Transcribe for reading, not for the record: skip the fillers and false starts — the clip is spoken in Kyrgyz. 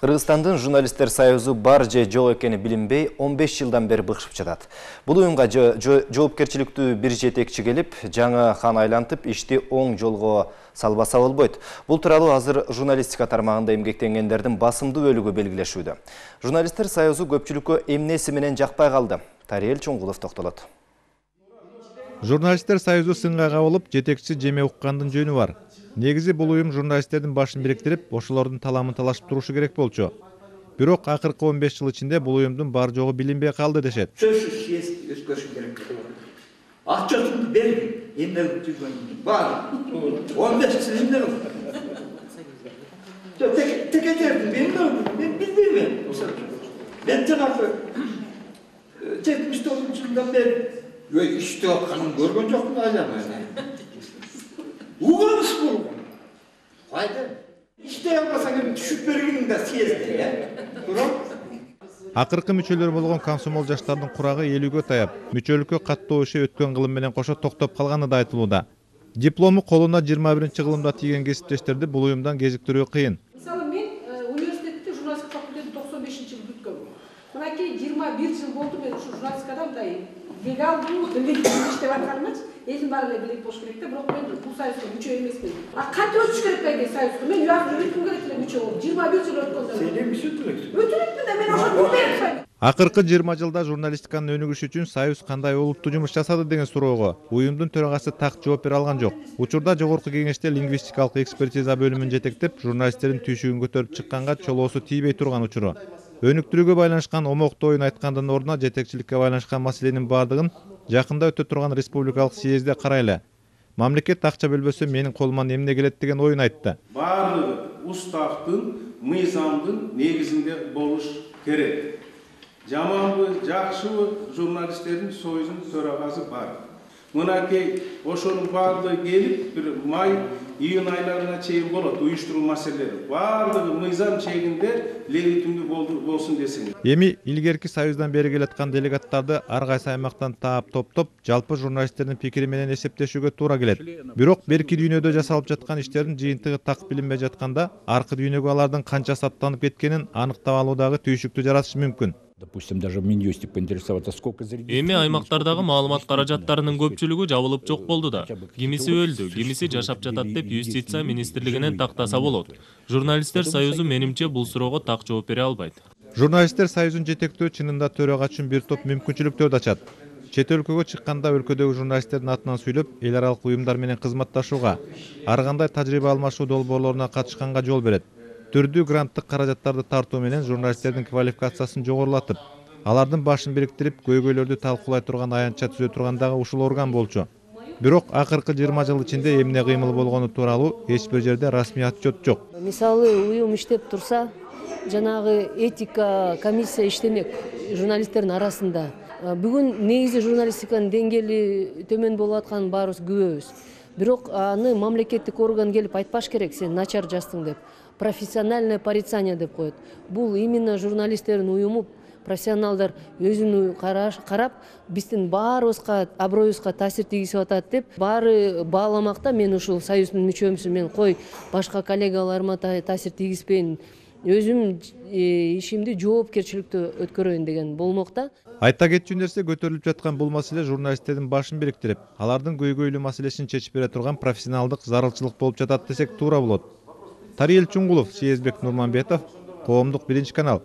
Кыргызстандын журналисттер союзу бар же жок экени билинбей 15 жылдан бери быкшып жатат. Бул уюмга жоопкерчиликтүү бир жетекчи келип, жаңы хан айлантып, ишти оң жолго салбаса болбойт. Бул тууралуу азыр журналистика тармагында эмгектенгендердин басымдуу бөлүгү белгилешүүдө. Журналисттер союзу көпчүлүккө эмнеси менен жакпай калды? Тариел Чоңгулов токтолот. Журналисттер союзу сынга кабылып, жетекчи Жеме уккандын жөнү бар. Негизи бул уюм журналисттердин башын бириктирип, ошолордун таламын талашып турушу керек болчу. Бирок акыркы 15 жыл ичинде бул уюмдун бар жогу билинбей калды дешет. Сөзсүз съезд өткөрүш керек. Акчасын берди, эмне жүргөн бар. 15 жыл эмне кылды? Текетердим, мен билбейм. Мен жанагы 79 жылдан бери иштеп атканын көргөн жокмун айланмай. Угамыз болгон. Кайда? İşte yapmasan düşüp bергенин да съезде, Акыркы мүчөлөр болгон комсомол жаштардын курагы 50гө таяп, мүчөлүккө каттоо иши өткөн кылым менен кошо токтоп калганы да айтылууда. Диплому колуна 21-кылымда тийген кесиптештерди бул уюмдан кезиктирүү кыйын. Мисалы мен университетте журналистика факультетин 95-жыл бүткөнмүн. Мынакей 21 жыл болду мен ушу журналистикада мындай легалдуу иштеп атканымчы. Элдин баары эле билет болуш керек да, бирок мен бул союзга мүчө эмесмин. Кантип өтүш керек бейге союзга? Мен уягы жүрүп керек эле мүчө болуп, 21 жыл өткөндөн. Сен эмне өтүрөксүң? Өтүрөкмүн да, мен ошону билбейм. Акыркы 20 жылда журналистиканын өнүгүшү үчүн союз кандай олуттуу жумуш жасады деген суроого уюмдун төрагасы так жооп бере алган жок. Учурда жогорку кеңеште лингвистикалык экспертиза бөлүмүн жетектеп, журналисттердин түйшүгүн көтөрүп чыкканга чолоосу тийбей турган учуру. Өнүктүрүүгө байланышкан омоктуу оюн айткандын ордуна жетекчиликке байланышкан маселенин бардыгын жакында өтө турган республикалык съезде карайлы. Мамлекет акча бөлбөсө менин колуман эмне келет деген оюн айтты. Баардыгы устактын, мыйзамдын негизинде болуш керек. Жаманбы, жакшыбы журналисттердин союзунун төрагасы бар. Мынакей ошонун баардыгы келип, бир май, июнь айларына чейин болот уюштуруу маселелери. Баардыгы мыйзам чегинде легитимдүү болсун десең. Эми илгерки союздан бери келаткан делегаттарды ар кайсы аймактан таап топтоп, жалпы журналисттердин пикири менен эсептешүүгө туура келет. Бирок берки дүйнөдө жасалып жаткан иштердин жыйынтыгы так билинбей жатканда, аркы дүйнөгө алардын канча саттанып кеткенин аныктап алуудагы түйшүктү жаратышы мүмкүн. Допустим, даже в Минюсте поинтересоваться, сколько Эми аймактардагы маалымат каражаттарынын көпчүлүгү жабылып жок болду да. Кимиси өлдү, кимиси жашап жатат деп юстиция министрлигинен тактаса болот. Журналисттер союзу менимче бул суроого так жооп бере албайт. Журналисттер союзун жетектөө чынында төрага үчүн бир топ мүмкүнчүлүктөрдү ачат. Чет өлкөгө чыкканда өлкөдөгү журналисттердин атынан сүйлөп, эл аралык уюмдар менен кызматташууга, ар кандай тажрыйба алмашуу долбоорлоруна катышканга жол берет. Түрдүү гранттык каражаттарды тартуу менен журналисттердин квалификациясын жогорулатып, алардын башын бириктирип, көйгөйлөрдү талкуулай турган аянтча түзө турган дагы ушул орган болчу. Бирок акыркы 20 жыл ичинде эмне кыймыл болгону тууралуу эч бир жерде расмий отчет жок. Мисалы, уюм иштеп турса, жанагы этика комиссия иштемек журналисттердин арасында. Бүгүн негизи журналистиканын деңгээли төмөн болуп атканын баарыбыз күбөбүз. Бирок аны мамлекеттик орган келип айтпаш керек, сен начар жаздың деп. Профессиональное порицание деп коет. Бул именно журналисттердин уюму, профессионалдар өзүнү карап, биздин баарыбызга, аброюбузга таасир тийгизип атат деп, баары бааламакта мен ушул союздун мүчөмүсүн, мен кой башка коллегаларыма таасир тийгизбейин, өзүм ишимди жоопкерчиликтүү өткөрөйүн деген болмокта. Айта кетчү нерсе, көтөрүлүп жаткан бул маселе журналисттердин башын бириктирип, алардын көйгөйлүү маселесин чечип бере турган профессионалдык зарылчылык болуп жатат десек туура болот. Тариел Чоңгулов, Сезбек Нурманбетов, Коомдук 1 канал.